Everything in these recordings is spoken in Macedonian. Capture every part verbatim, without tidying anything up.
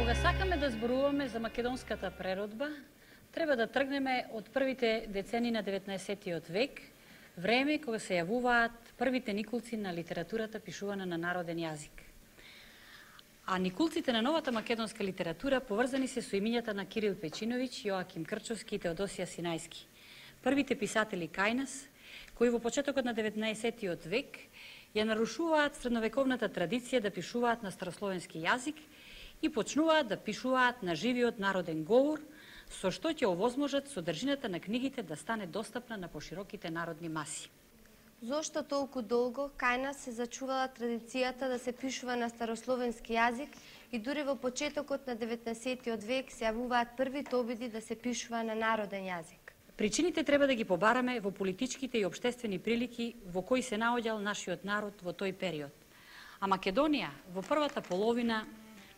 Кога сакаме да зборуваме за македонската преродба, треба да тргнеме од првите децени на деветнаесеттиот век, време кога се јавуваат првите никулци на литературата пишувана на народен јазик. А никулците на новата македонска литература поврзани се со имињата на Кирил Печиновиќ, Јоаким Крчовски и Теодосија Синајски, првите писатели кај нас, кои во почетокот на деветнаесеттиот век ја нарушуваат средновековната традиција да пишуваат на старословенски јазик и почнуваат да пишуваат на живиот народен говор, со што ќе овозможат содржината на книгите да стане достапна на пошироките народни маси. Зошто толку долго кај нас се зачувала традицијата да се пишува на старословенски јазик и дури во почетокот на деветнаесеттиот век се јавуваат првите обиди да се пишува на народен јазик? Причините треба да ги побараме во политичките и општествени прилики во кои се наоѓал нашиот народ во тој период. А Македонија во првата половина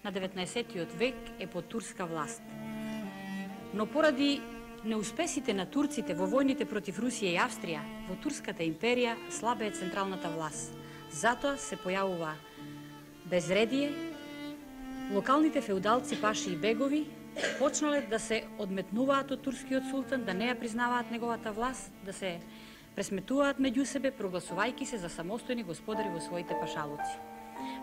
на деветнаесеттиот век е под турска власт. Но поради неуспесите на турците во војните против Русија и Австрија, во Турската империја слаба е централната власт. Затоа се појавува безредие, локалните феудалци, паши и бегови почнале да се одметнуваат од турскиот султан, да не ја признаваат неговата власт, да се пресметуваат меѓу себе, прогласувајќи се за самостојни господари во своите пашалуци.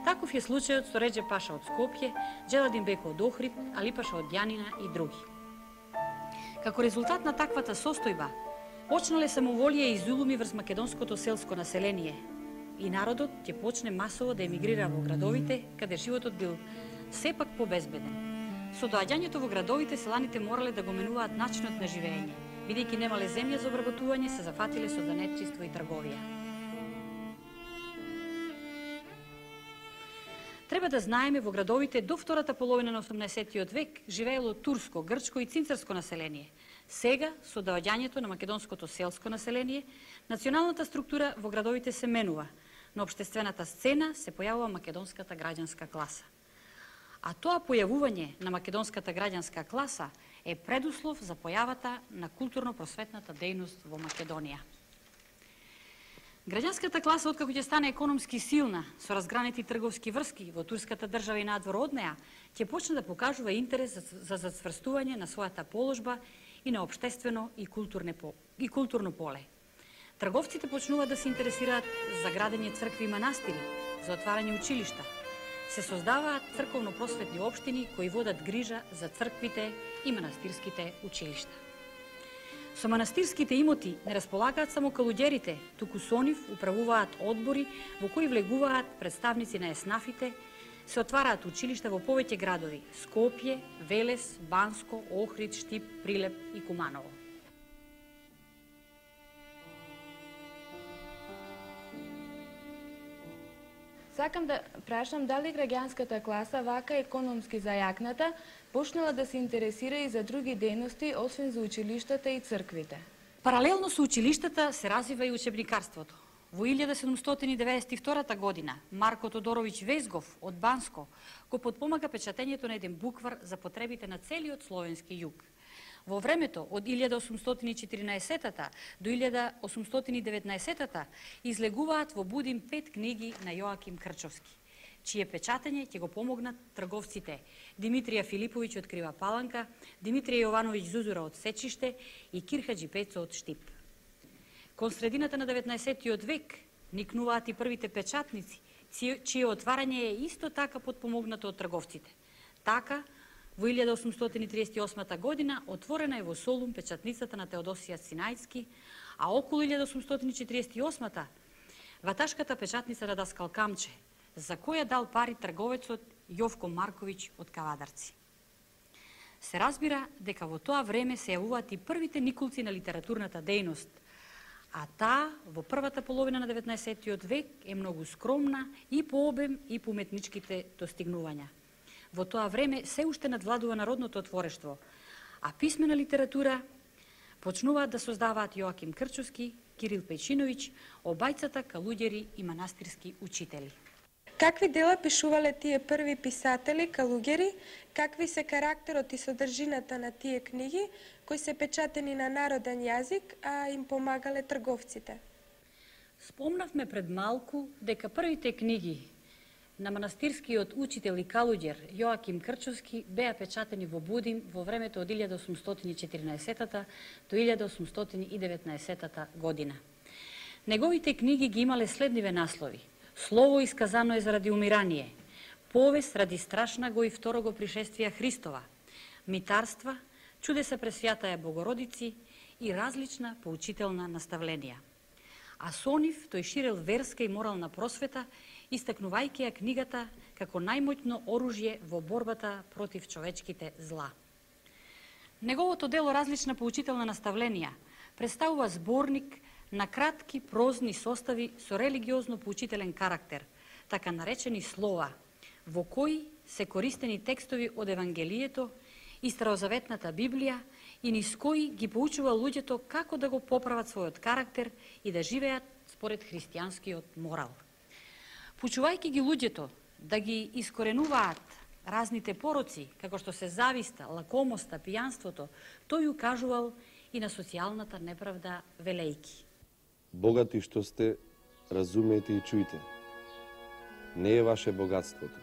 Таков е случајот со Реџеп Паша од Скопје, Джеладин Беко од Охрид, Али Паша од Јанина и други. Како резултат на таквата состојба, почнале самоволија и зулуми врз македонското селско население и народот ќе почне масово да емигрира во градовите, каде животот бил сепак побезбеден. Со доаѓањето во градовите, селаните морале да го менуваат начинот на живење, бидејќи немале земја за обработување, се зафатиле со занетчиство и трговија. Треба да знаеме, во градовите до втората половина на осумнаесеттиот век живеело турско, грчко и цинцарско население. Сега, со доаѓањето на македонското селско население, националната структура во градовите се менува. На општествената сцена се појавува македонската граѓанска класа. А тоа појавување на македонската граѓанска класа е предуслов за појавата на културно-просветната дејност во Македонија. Граѓанската класа, откако ќе стане економски силна, со разгранети трговски врски во турската држава и надвор од неа, ќе почне да покажува интерес за зацврстување на својата положба и на општествено и и културно поле. Трговците почнуваат да се интересираат за градење цркви и манастири, за отварање училишта. Се создаваат црковно-просветни општини кои водат грижа за црквите и манастирските училишта. Со манастирските имоти не располагаат само калуѓерите, туку со нив управуваат одбори во кои влегуваат представници на еснафите, се отвараат училишта во повеќе градови – Скопје, Велес, Банско, Охрид, Штип, Прилеп и Куманово. Сакам да прашам дали граѓанската класа, вака економски зајакната, почнала да се интересира и за други дејности, освен за училиштата и црквите. Паралелно со училиштата се развива и учебникарството. Во илјада седумстотини деветдесет и втора година Марко Тодоровиќ Везгов од Банско го потпомага печатењето на еден буквар за потребите на целиот словенски југ. Во времето од илјада осумстотини и четиринаесета до илјада осумстотини и деветнаесета излегуваат во Будим пет книги на Јоаким Крчовски, чие печатење ќе го помогнат трговците Димитрија Филиповиќ од Крива Паланка, Димитрија Јовановиќ Зузура од Сечиште и Кирхаџи Пецо од Штип. Кон средината на деветнаесеттиот век никнуваат и првите печатници, чие отварање е исто така потпомогнато од трговците. Така, во илјада осумстотини и триесет и осма година отворена е во Солун печатницата на Теодосија Синајски, а околу илјада осумстотини и четириесет и осма ваташката печатница на Даскал Камче, за која дал пари трговецот Јовко Марковиќ од Кавадарци. Се разбира дека во тоа време се јавуваат и првите никулци на литературната дејност, а таа во првата половина на деветнаесеттиот век е многу скромна и по обем и по уметничките достигнувања. Во тоа време се уште надвладува народното творештво, а писмена литература почнуваат да создаваат Јоаким Крчовски, Кирил Печиновиќ, обајцата калуѓери и манастирски учители. Какви дела пишувале тие први писатели, калуѓери, какви се карактерот и содржината на тие книги, кои се печатени на народен јазик, а им помагале трговците? Спомнавме пред малку дека првите книги на манастирскиот учител и калуѓер Јоаким Крчовски беа печатени во Будин во времето од илјада осумстотини и четирнаесеттата до илјада осумстотини и деветнаесеттата година. Неговите книги ги имале следниве наслови: Слово исказано е заради умирание, Повест ради страшна го и второго пришествија Христова, Митарства, Чудеса пред Свјатаја Богородици и различна поучителна наставленија. А со нив тој ширел верска и морална просвета, истакнувајќи ја книгата како најмоќно оружје во борбата против човечките зла. Неговото дело Различна поучителна наставленија представува зборник на кратки прозни состави со религиозно поучителен карактер, така наречени слова, во кои се користени текстови од Евангелието и Старозаветната Библија и низ кои ги поучува луѓето како да го поправат својот карактер и да живеат според христијанскиот морал. Пучувајќи ги луѓето да ги искоренуваат разните пороци, како што се зависта, лакомоста, пијанството, тој укажувал и на социјалната неправда велејки. Богати што сте, разумејте и чујте. Не е ваше богатството,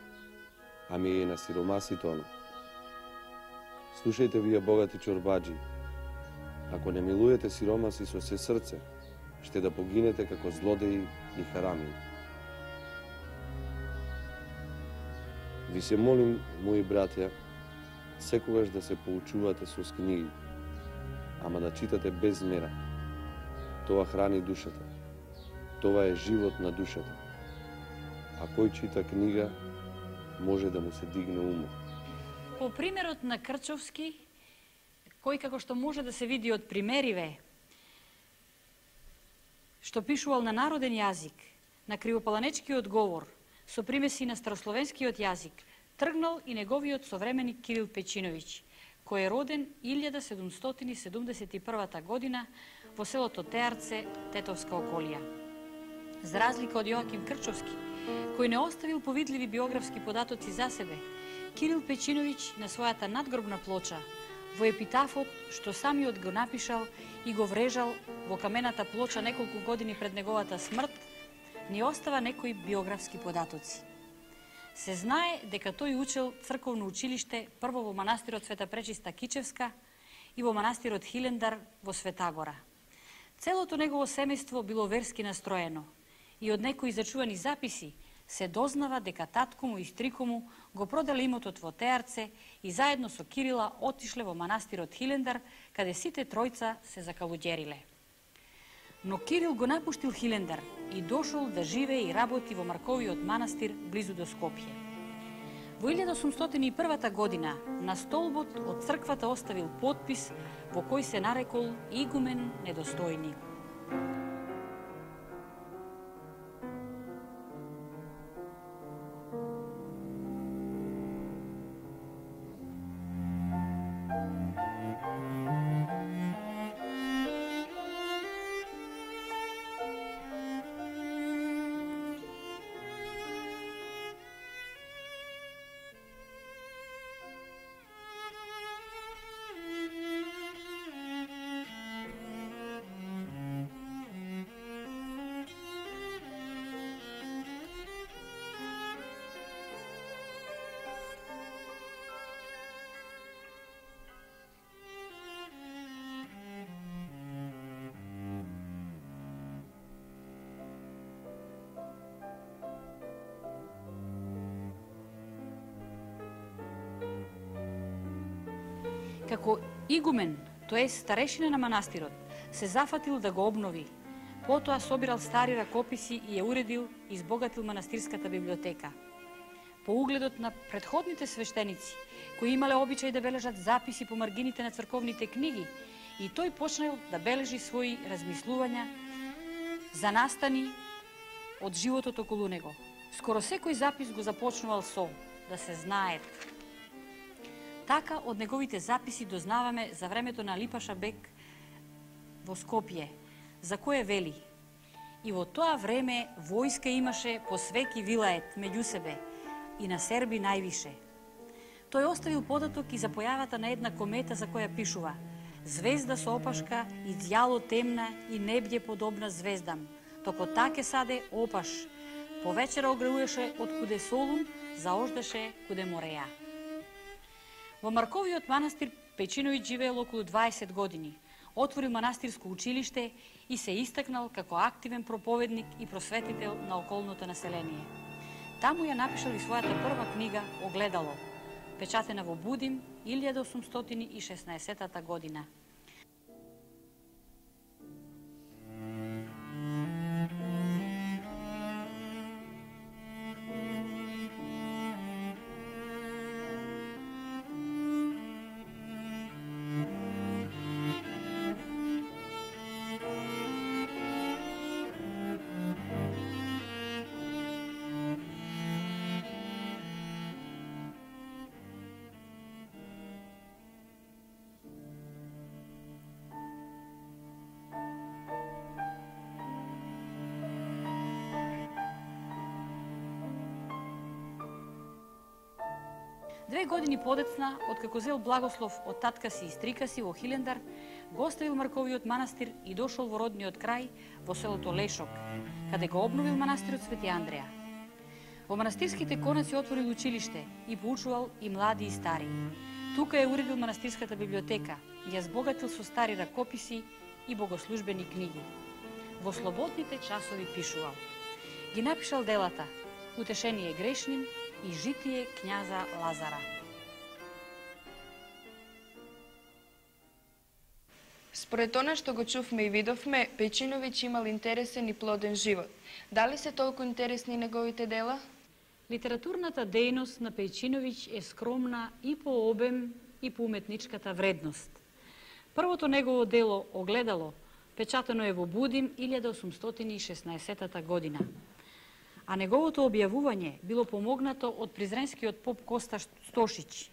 ами е на сиромасите оно. Слушајте вие богати чорбаджи, ако не милуете сиромаси со се срце, ще да погинете како злодеи и харамии. Ви се молим, мои братја, секогаш да се поучувате со книги, ама да читате без мера. Тоа храни душата. Тоа е живот на душата. А кој чита книга, може да му се дигне умот. По примерот на Крчовски, кој како што може да се види од примериве, што пишувал на народен јазик, на кривопаланечкиот говор, со примеси на старословенскиот јазик, тргнал и неговиот современик Кирил Печиновиќ, кој е роден илјада седумстотини седумдесет и првата година во селото Теарце, Тетовска околија. За разлика од Јоаким Крчовски, кој не оставил повидливи биографски податоци за себе, Кирил Печиновиќ на својата надгробна плоча, во епитафот што самиот го напишал и го врежал во камената плоча неколку години пред неговата смрт, ни остава некои биографски податоци. Се знае дека тој учел црковно училиште прво во манастирот Света Пречиста Кичевска и во манастирот Хилендар во Светагора. Целото негово семејство било верски настроено и од некои зачувани записи се дознава дека татко му и стрико му го продале имотот во Теарце и заедно со Кирила отишле во манастирот Хилендар, каде сите тројца се закалуѓериле. Но Кирил го напуштил Хилендар и дошол да живее и работи во Марковиот манастир близу до Скопје. Во илјада осумстотини и првата година на столбот од црквата оставил потпис во кој се нарекол игумен недостојник. Како игумен, тоа е старешина на манастирот, се зафатил да го обнови. Потоа собирал стари ракописи и ја уредил и избогатил манастирската библиотека. По угледот на предходните свештеници, кои имале обичај да бележат записи по маргините на црковните книги, и тој почнал да бележи своји размислувања за настани од животот околу него. Скоро секој запис го започнувал со да се знаат. Така, од неговите записи дознаваме за времето на Липаша Бек во Скопје, за кое вели: и во тоа време војска имаше по свеки вилает меѓу себе и на серби највише. Тој оставил податок и за појавата на една комета за која пишува: звезда со опашка, изјало темна и небје подобна звездам, токо таке саде опаш, Повечера огревуваше од куде Солун, заождаше куде Мореја. Во Марковиот манастир Пејчиновиќ живеел околу дваесет години. Отворил манастирско училиште и се истакнал како активен проповедник и просветител на околното население. Таму ја напишал и својата прва книга Огледало, печатена во Будим илјада осумстотини и шеснаесеттата година. Две години подецна, откако зел благослов од татка си и стрика си во Хилендар, го оставил Марковиот манастир и дошол во родниот крај, во селото Лешок, каде го обновил манастирот Свети Андреја. Во манастирските конаци отворил училиште и поучувал и млади и стари. Тука е уредил манастирската библиотека, ја збогатил со стари ракописи и богослужбени книги. Во слободните часови пишувал. Ги напишал делата Утешение грешним и Житие књаза Лазара. Според она што го чувме и видовме, Пејчиновиќ имал интересен и плоден живот. Дали се толку интересни неговите дела? Литературната дејност на Пејчиновиќ е скромна и по обем и по уметничката вредност. Првото негово дело Огледало печатено е во Будим илјада осумстотини и шеснаесеттата година. А неговото објавување било помогнато од призренскиот поп Коста Стошиќ.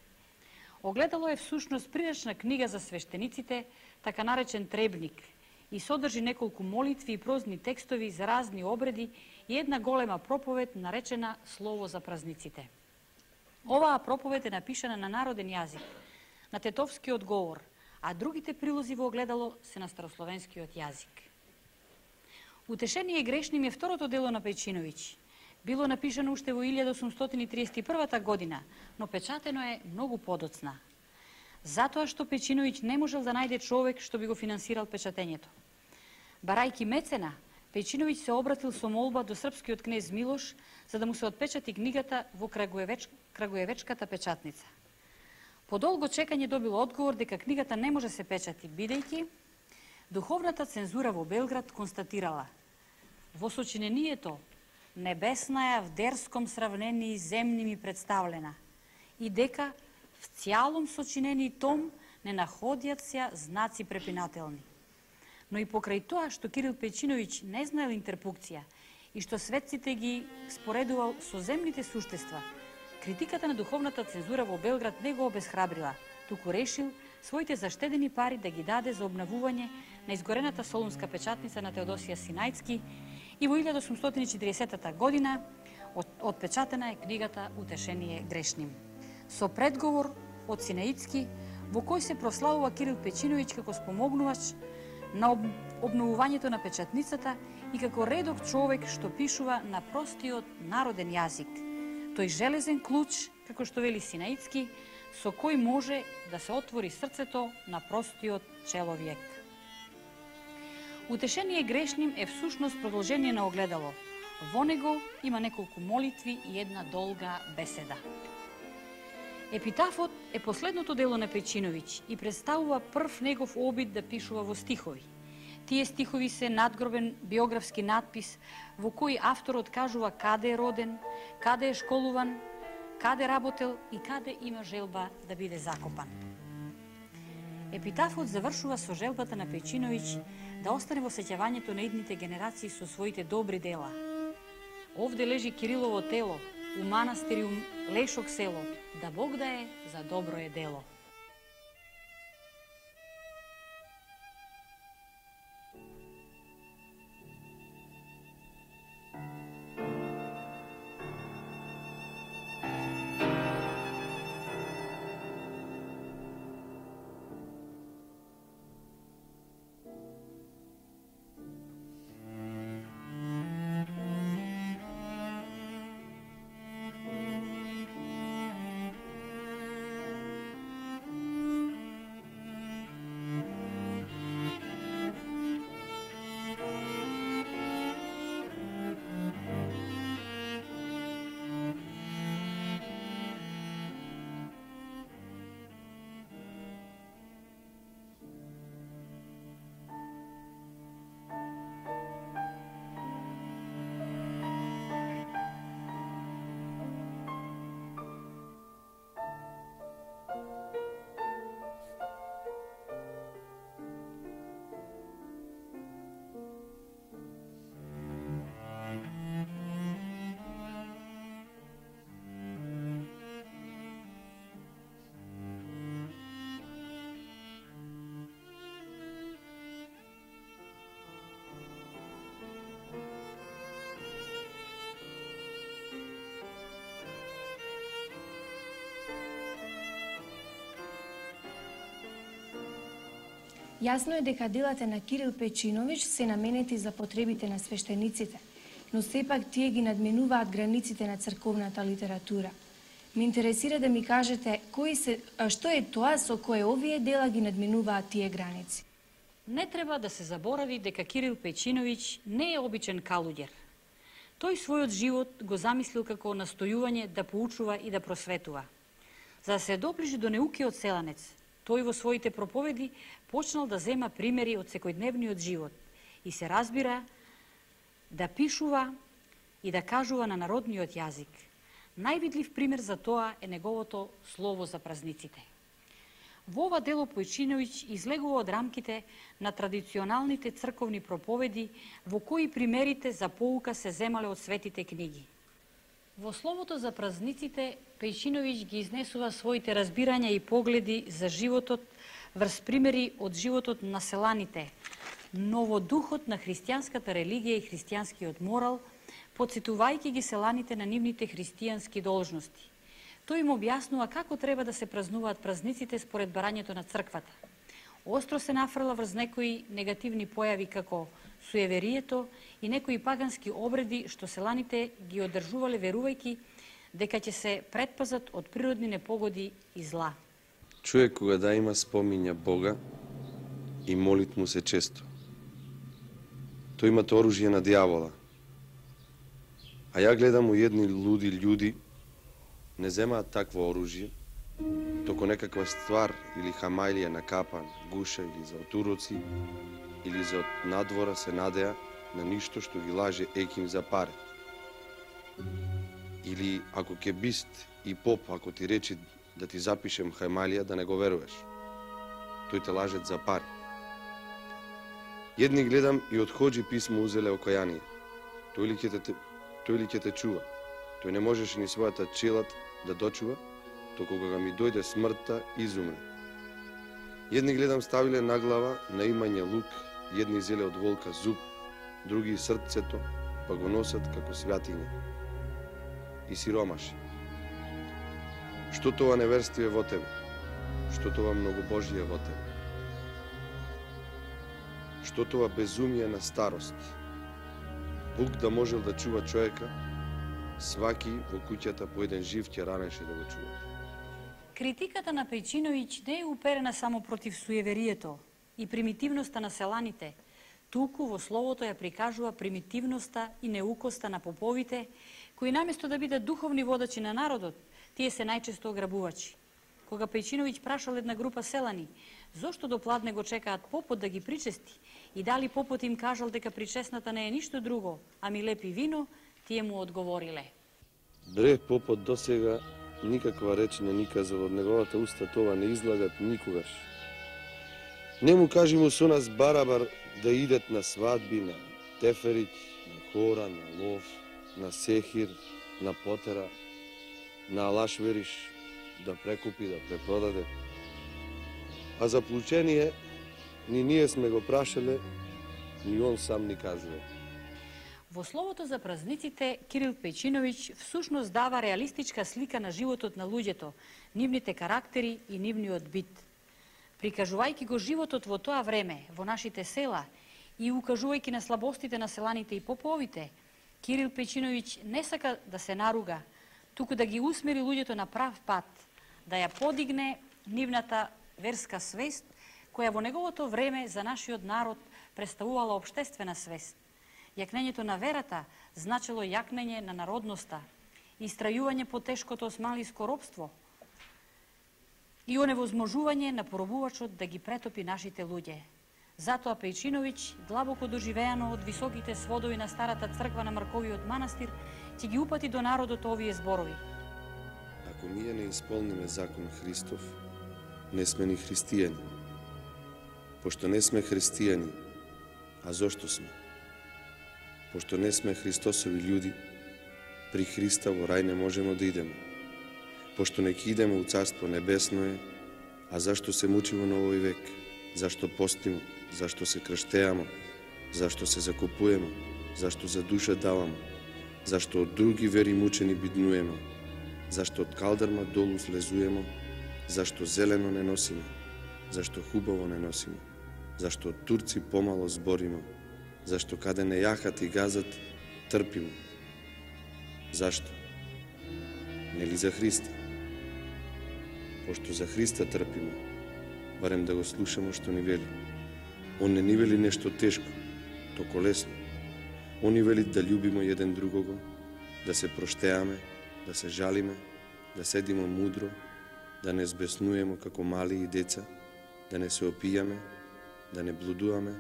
Огледало е всушност приречна книга за свештениците, така наречен требник, и содржи неколку молитви и прозни текстови за разни обреди и една голема проповед наречена Слово за празниците. Оваа проповед е напишана на народен јазик, на тетовскиот говор, а другите прилози во Огледало се на старословенскиот јазик. Утешение грешним е второто дело на Пејчиновиќ. Било напишано уште во илјада осумстотини триесет и првата година, но печатено е многу подоцна. Затоа што Пејчиновиќ не можел да најде човек што би го финансирал печатењето. Барајки мецена, Пејчиновиќ се обратил со молба до српскиот кнез Милош за да му се отпечати книгата во Крагуевеч... Крагуевечката печатница. По долго чекање добил одговор дека книгата не може се печати, бидејќи духовната цензура во Белград констатирала: во сочинението небесна ја в дерском сравнении земни ми представлена и дека в цјалом сочинени том не находјат се знаци препинателни. Но и покрај тоа што Кирил Пејчиновиќ не знаел интерпукција и што светците ги споредувал со земните суштества, критиката на духовната цензура во Белград не го обесхрабрила, туку решил своите заштедени пари да ги даде за обнавување на изгорената солунска печатница на Теодосија Синајцки и во илјада осумстотини и четиридесеттата година отпечатена е книгата Утешение грешним, со предговор од Синајцки во кој се прославува Кирил Пејчиновиќ како спомогнувач на обновувањето на печатницата и како редок човек што пишува на простиот народен јазик, тој железен клуч, како што вели Синајцки, со кој може да се отвори срцето на простиот человек. Утешение грешним е всушност продолжение на Огледало. Во него има неколку молитви и една долга беседа. Епитафот е последното дело на Пејчиновиќ и представува прв негов обид да пишува во стихови. Тие стихови се надгробен биографски надпис во кој авторот кажува каде е роден, каде е школуван, каде работел и каде има желба да биде закопан. Епитафот завршува со желбата на Пејчиновиќ да остане во сеќавањето на идните генерации со своите добри дела. Овде лежи Кирилово тело, у манастиру Лешок село, да Бог да е за добро е дело. Јасно е дека делата на Кирил Пејчиновиќ се наменети за потребите на свештениците, но сепак тие ги надменуваат границите на црковната литература. Ме интересира да ми кажете кои се, а што е тоа со кое овие дела ги надменуваат тие граници. Не треба да се заборави дека Кирил Пејчиновиќ не е обичен калуѓер. Тој својот живот го замислил како настојување да поучува и да просветува. За да се доближи до неукиот селанец, тој во своите проповеди почнал да зема примери од секојдневниот живот и се разбира да пишува и да кажува на народниот јазик. Највидлив пример за тоа е неговото слово за празниците. Во ова дело Пејчиновиќ излегува од рамките на традиционалните црковни проповеди во кои примерите за поука се земале од светите книги. Во словото за празниците Пејчиновиќ ги изнесува своите разбирања и погледи за животот врз примери од животот на селаните, но во духот на христијанската религија и христијанскиот морал, подсетувајќи ги селаните на нивните христијански должности. Тој им објаснува како треба да се празнуваат празниците според барањето на црквата. Остро се нафрла врз некои негативни појави како суеверието и некои пагански обреди што селаните ги одржувале верувајќи дека ќе се предпазат од природни непогоди и зла. Човек кога да има спомиња Бога и молит му се често. Тој имате оружје на дијавола. А ја гледам у едни луди људи не земаат такво оружје, току некаква ствар или хамајлија на капан, гуша или за отуроци, или за надвора се надеа на ништо што ги лаже еким за паре. Или ако ке бист и поп, ако ти речи да ти запишем хамајлија, да не го веруваш. Тој те лажет за пари. Едни гледам и од хоџи писмо узеле окајание. Тој ли ќе те, тој ли ќе те чува? Тој не можеше ни својата челат да дочува, току кога ми дојде смртта, изумре. Едни гледам ставиле на глава на имање лук, едни зеле од волка зуб, други срцето, па го носат како святиња. И сиромаши. Што тоа неверствие во тебе? Што тоа многобожие во тебе? Што тоа безумие на старост? Бук да можел да чува човека, сваки во куќата по еден жив ќе ранеше да го чува. Критиката на Пејчиновиќ не е уперена само против суеверието и примитивноста на селаните, туку во словото ја прикажува примитивноста и неукоста на поповите, кои наместо да бидат духовни водачи на народот, тие се најчесто ограбувачи. Кога Пејчиновиќ прашал една група селани, зошто до пладне го чекаат попот да ги причести и дали попот им кажал дека причесната не е ништо друго, ами лепи вино, тие му одговориле. Бре, попот досега никаква реч не ни казал, од неговата уста това не излагат никогаш. Не му кажи му со нас барабар да идет на свадби, на теферич, на хора, на лов, на сехир, на потера, на алашвериш, да прекупи, да препродаде. А за плучение ни ние сме го прашале, ни он сам ни кажува. Во словото за празниците, Кирил Пејчиновиќ всушност дава реалистичка слика на животот на луѓето, нивните карактери и нивниот бит. Прикажувајќи го животот во тоа време, во нашите села и укажувајќи на слабостите на селаните и поповите, Кирил Пејчиновиќ не сака да се наруга, туку да ги усмери луѓето на прав пат, да ја подигне нивната верска свест, која во неговото време за нашиот народ представувала општествена свест. Јакнењето на верата значило јакнење на народноста, истрајување по тешкото османлиско робство и оневозможување на поробувачот да ги претопи нашите луѓе. Затоа Пејчиновиќ, длабоко доживеано од високите сводови на старата црква на Марковиот манастир, ќе ги упати до народот овие зборови. Ако ние не исполниме закон Христов, не сме ни христијани. Пошто не сме христијани, а зошто сме? Пошто не сме Христосови људи, при Христа во рај не можемо да идеме. Пошто не ќе идеме у Царство Небесно е, а зашто се мучимо на овој век? Зашто постимо? Зашто се крштеамо? Зашто се закупуемо? Зашто за душа даваме? Зашто од други вери мучени биднуемо? Зашто од калдарма долу слезуемо? Зашто зелено не носиме? Зашто хубаво не носиме? Зашто турци помало збориме, зашто каде не јахат и газат, трпимо. Зашто? Нели за Христа? Пошто за Христа трпимо, барем да го слушаме што ни вели. Он не ни вели нешто тешко, токо лесно. Он ни вели да љубиме еден другого, да се проштеаме, да се жалиме, да седиме мудро, да не збеснуеме како мали и деца, да не се опијаме, да не блудуваме,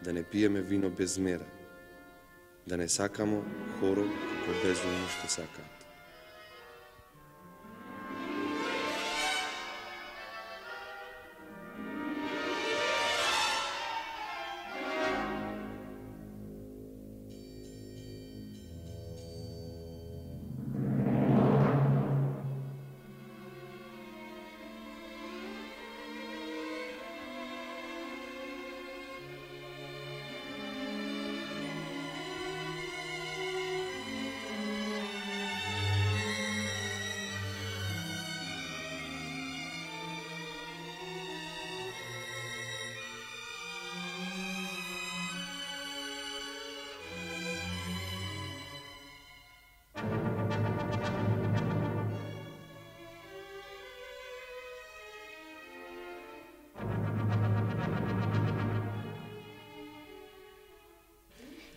да не пиеме вино без мера, да не сакамо хоро како безумно што сакаат.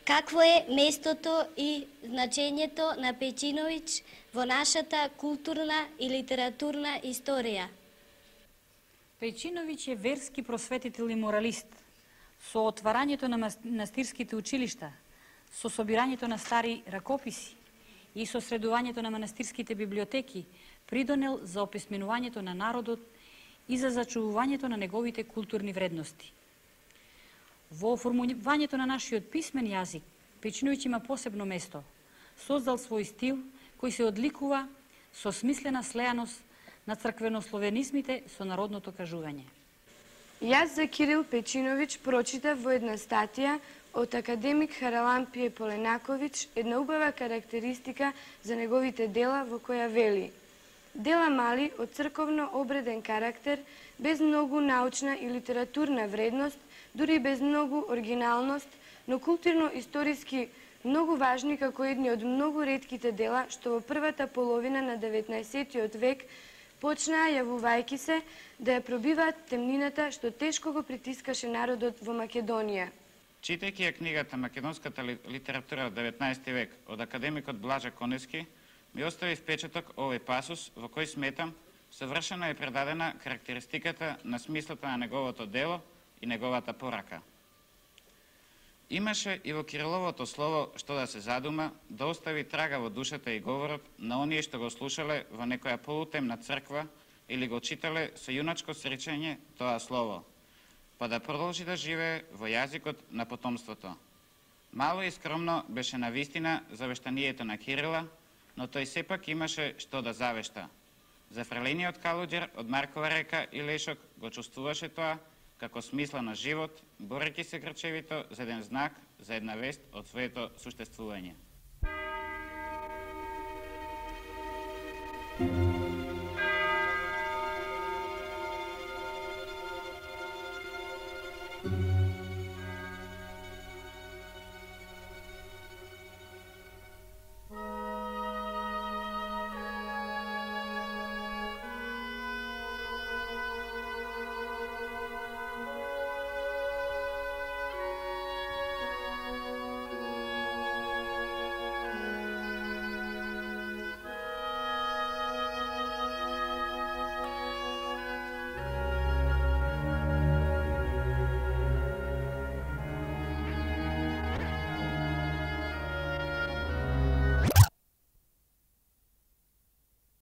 Какво е местото и значењето на Пејчиновиќ во нашата културна и литературна историја? Пејчиновиќ е верски просветител и моралист. Со отварањето на манастирските училишта, со собирањето на стари ракописи и со средувањето на манастирските библиотеки придонел за описменувањето на народот и за зачувувањето на неговите културни вредности. Во оформувањето на нашиот писмен јазик, Пејчиновиќ има посебно место. Создал свој стил кој се одликува со смислена слеаност на црквенословенизмите со народното кажување. Јас за Кирил Пејчиновиќ прочитав во една статија од академик Харалампије Поленаковиќ една убава карактеристика за неговите дела во која вели: дела мали од црковно обреден карактер, без многу научна и литературна вредност, дури без многу оригиналност, но културно-историски многу важни како едни од многу ретките дела што во првата половина на деветнаесеттиот век почнаа јавувајќи се да ја пробиваат темнината што тешко го притискаше народот во Македонија. Читајќи ја книгата Македонската литература од деветнаесети век од академикот Блажа Коневски, ми остави впечаток овој пасус во кој сметам совршено е предадена карактеристиката на смислата на неговото дело и неговата порака. Имаше и во Кириловото слово што да се задума, да остави трага во душата и говорот на оние што го слушале во некоја полутемна црква или го читале со јуначко среќање тоа слово, па да продолжи да живее во јазикот на потомството. Мало и скромно беше навистина завештанието на Кирила, но тој сепак имаше што да завешта. Зафрелениот Калуѓер од Маркова река и Лешок го чувствуваше тоа како смисла на живот, борејќи се грчевито за еден знак, за една вест од своето суштествување. Thank you.